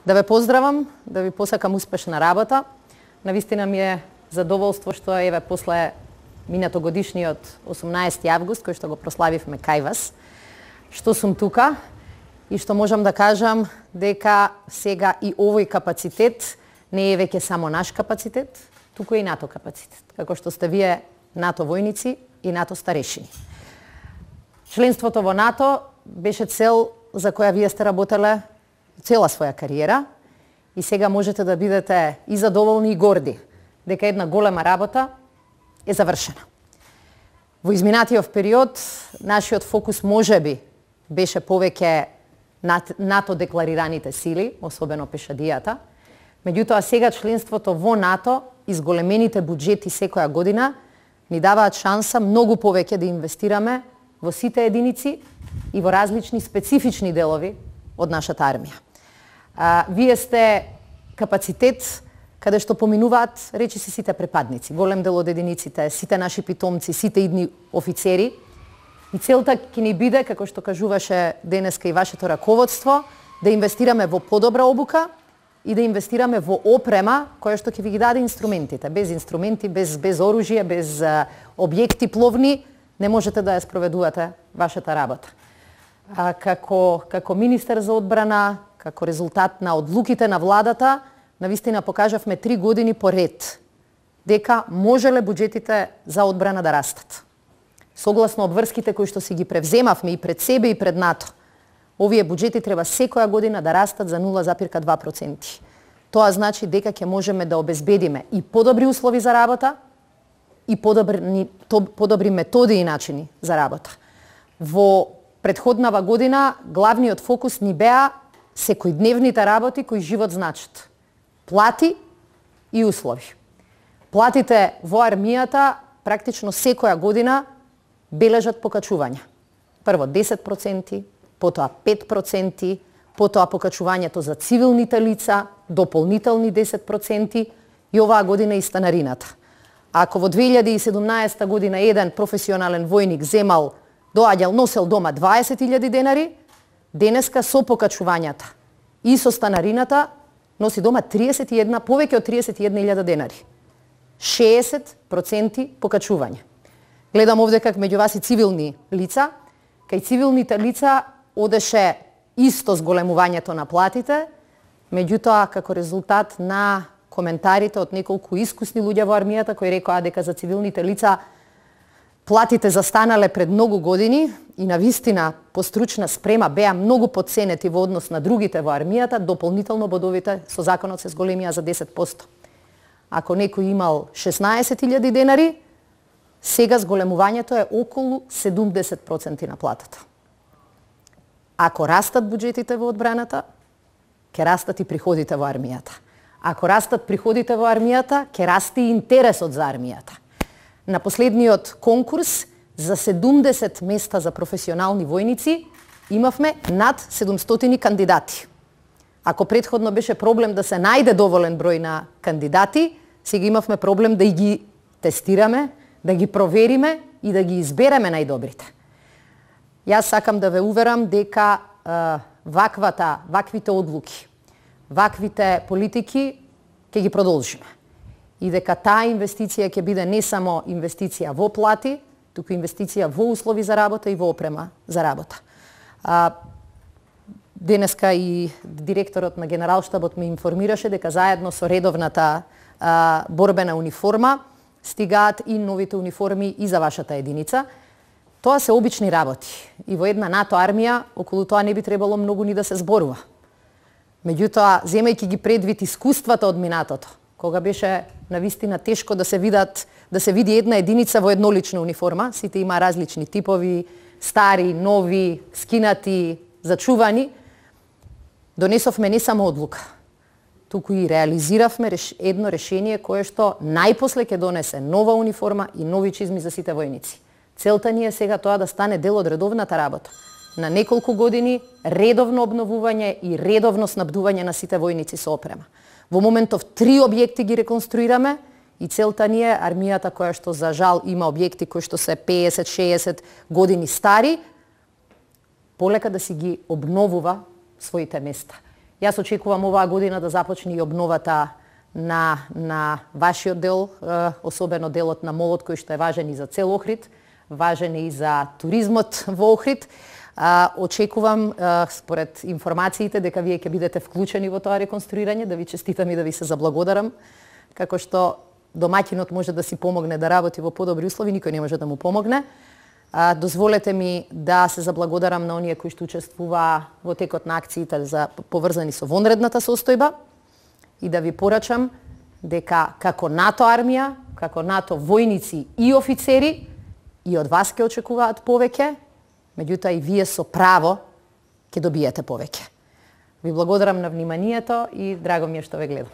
Да ве поздравам, да ви посакам успешна работа. Навистина ми е задоволство што еве после минатогодишниот 18 август, кој што го прославивме кај вас, што сум тука и што можам да кажам дека сега и овој капацитет не е веќе само наш капацитет, туку и НАТО капацитет, како што сте вие НАТО војници и НАТО старешини. Членството во НАТО беше цел за која вие сте работеле цела своја кариера и сега можете да бидете и задоволни и горди дека една голема работа е завршена. Во изминатиот период нашиот фокус можеби беше повеќе НАТО декларираните сили, особено пешадијата. Меѓутоа сега членството во НАТО и зголемените буџети секоја година ни даваат шанса многу повеќе да инвестираме во сите единици и во различни специфични делови од нашата армија. Вие сте капацитет каде што поминуваат речиси сите препадници, голем дел од единиците, сите наши питомци, сите идни офицери. И целта ќе ни биде, како што кажуваше денеска и вашето раководство, да инвестираме во подобра обука и да инвестираме во опрема која што ќе ви ги даде инструментите. Без инструменти, без оружје, без објекти пловни, не можете да ја спроведувате вашата работа. Како министер за одбрана, како резултат на одлуките на владата, навистина покажавме 3 години поред дека можеле буџетите за одбрана да растат. Согласно обврските кои што си ги превземавме и пред себе и пред НАТО, овие буџети треба секоја година да растат за 0,2%. Тоа значи дека ќе можеме да обезбедиме и подобри услови за работа и подобри методи и начини за работа. Во претходнава година главниот фокус ни беа секојдневните работи кои живот значат. Плати и услови. Платите во армијата практично секоја година бележат покачување. Прво 10%, потоа 5%, потоа покачувањето за цивилните лица, дополнителни 10% и оваа година и станарината. Ако во 2017 година еден професионален војник доаѓал, носел дома 20.000 денари, денеска со покачувањата и со станарината носи дома повеќе од 31.000 денари. 60% покачување. Гледам овде как меѓу вас и цивилни лица. Кај цивилните лица одеше исто зголемувањето на платите, меѓутоа како резултат на коментарите од неколку искусни луѓе во армијата кои рекоа дека за цивилните лица платите застанале пред многу години и навистина по стручна спрема беа многу потценети во однос на другите во армијата, дополнително бодовите со законот се зголемија за 10%. Ако некој имал 16.000 денари, сега зголемувањето е околу 70% на платата. Ако растат буџетите во одбраната, ќе растат и приходите во армијата. Ако растат приходите во армијата, ќе расте и интересот за армијата. На последниот конкурс за 70 места за професионални војници имавме над 700 кандидати. Ако претходно беше проблем да се најде доволен број на кандидати, сега имавме проблем да ги тестираме, да ги провериме и да ги избереме најдобрите. Јас сакам да ве уверам дека ваквите одлуки, ваквите политики ќе ги продолжиме. И дека таа инвестиција ќе биде не само инвестиција во плати, туку инвестиција во услови за работа и во опрема за работа. Денеска и директорот на Генералштабот ме информираше дека заедно со редовната борбена униформа стигаат и новите униформи и за вашата единица. Тоа се обични работи и во една НАТО армија околу тоа не би требало многу ни да се зборува. Меѓутоа, земајќи ги предвид искуствата од минатото, кога беше навистина тешко да се види една единица во еднолична униформа, сите има различни типови, стари, нови, скинати, зачувани, донесовме не само одлука, туку и реализиравме едно решение кое што најпосле ќе донесе нова униформа и нови чизми за сите војници. Целта ни е сега тоа да стане дел од редовната работа. На неколку години редовно обновување и редовно снабдување на сите војници со опрема. Во моментов 3 објекти ги реконструираме и целта ни е армијата која што за жал има објекти кои што се 50-60 години стари, полека да си ги обновува своите места. Јас очекувам оваа година да започне и обновата на вашиот дел, особено делот на молот кој што е важен и за цел Охрид, важен и за туризмот во Охрид. Очекувам, според информациите, дека вие ќе бидете вклучени во тоа реконструирање, да ви честитам и да ви се заблагодарам, како што домаќинот може да си помогне да работи во подобри услови, никој не може да му помогне. Дозволете ми да се заблагодарам на оние кои што учествуваа во текот на акциите поврзани со вонредната состојба и да ви порачам дека како НАТО армија, како НАТО војници и офицери и од вас ќе очекуваат повеќе, меѓутоа и вие со право ќе добиете повеќе. Ви благодарам на вниманието и драго ми е што ве гледам.